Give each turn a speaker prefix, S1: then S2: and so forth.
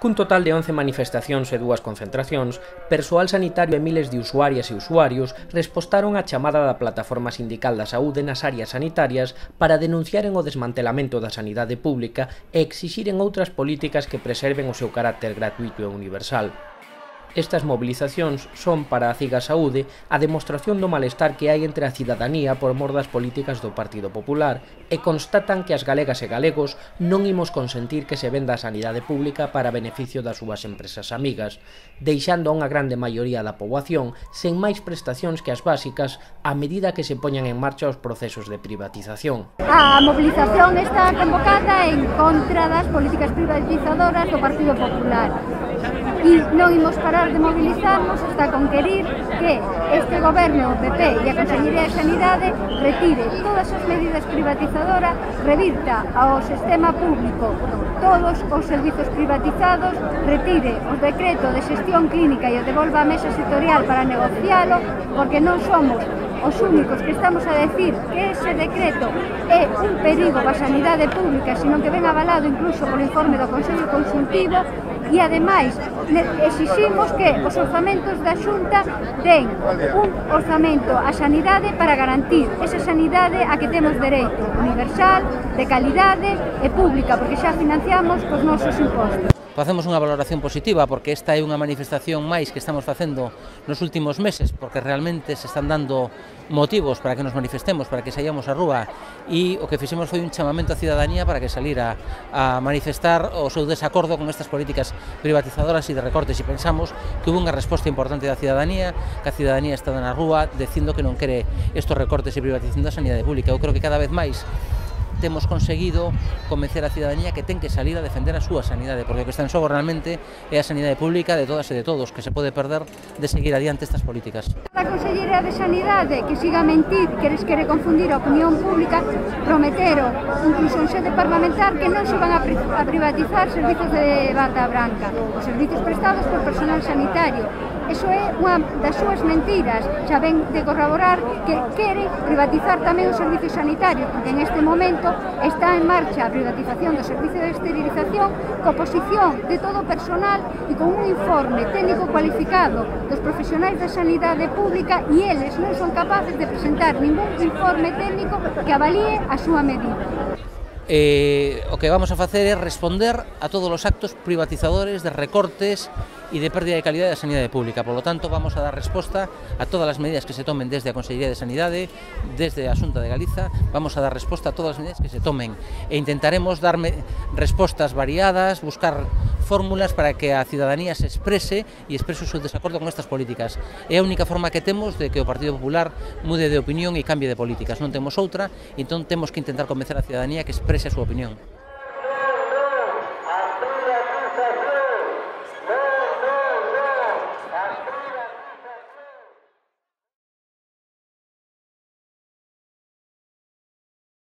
S1: Cun total de 11 manifestacións e 2 concentracións, persoal sanitario e miles de usuarias e usuarios respostaron á chamada da Plataforma Sindical da Saúde nas áreas sanitarias para denunciaren o desmantelamento da sanidade pública e exixiren outras políticas que preserven o seu carácter gratuito e universal. Estas movilizacións son, para a Ciga Saúde, a demostración do malestar que hai entre a cidadanía por mor das políticas do Partido Popular e constatan que as galegas e galegos non imos consentir que se venda a sanidade pública para beneficio das súas empresas amigas, deixando a unha grande maioría da poboación sen máis prestacións que as básicas a medida que se poñan en marcha os procesos de privatización.
S2: A movilización está convocada en contra das políticas privatizadoras do Partido Popular. E non imos parar de mobilizarnos hasta conquerir que este goberno, o PP e a Consellería de Sanidade retire todas as medidas privatizadoras, revirta ao sistema público todos os servizos privatizados, retire o decreto de xestión clínica e o devolva á mesa sectorial para negocialo, porque non somos os únicos que estamos a decir que ese decreto é un perigo para a sanidade pública, sino que ven avalado incluso polo informe do Consello Consultivo. E, ademais, exiximos que os orzamentos da Xunta den un orzamento á sanidade para garantir esa sanidade a que temos dereito, universal, de calidade e pública, porque xa financiamos cos nosos impostos.
S3: Facemos unha valoración positiva porque esta é unha manifestación máis que estamos facendo nos últimos meses, porque realmente se están dando motivos para que nos manifestemos, para que saíamos á rúa, e o que fixemos foi un chamamento á cidadanía para que salira a manifestar o seu desacordo con estas políticas privatizadoras e de recortes, e pensamos que hubo unha resposta importante da cidadanía, que a cidadanía está na rúa dicindo que non quere estos recortes e privatización da sanidade pública. Eu creo que cada vez máis temos conseguido convencer a cidadanía que ten que salir a defender a súa sanidade, porque o que está en xogo realmente é a sanidade pública de todas e de todos, que se pode perder de seguir adiante estas políticas.
S2: A Consellería de Sanidade que siga a mentir, que les quere confundir a opinión pública, prometeron, incluso en sede parlamentar, que non se van a privatizar servizos de bata branca, os servizos prestados por personal sanitario. Eso é unha das súas mentiras, xa ven de corroborar que queren privatizar tamén os servicios sanitarios, porque en este momento está en marcha a privatización do servicio de esterilización co oposición de todo o personal e con un informe técnico cualificado dos profesionais da sanidade pública, e eles non son capaces de presentar ningún informe técnico que avalíe a súa medida.
S3: O que vamos a facer é responder a todos os actos privatizadores de recortes e de pérdida de calidade da sanidade pública. Por lo tanto, vamos a dar resposta a todas as medidas que se tomen desde a Consellería de Sanidade, desde a Xunta de Galiza, vamos a dar resposta a todas as medidas que se tomen e intentaremos dar respostas variadas, buscar fórmulas para que a cidadanía se exprese e exprese o seu desacordo con estas políticas. É a única forma que temos de que o Partido Popular mude de opinión e cambie de políticas. Non temos outra, entón temos que intentar convencer a cidadanía que exprese a súa opinión.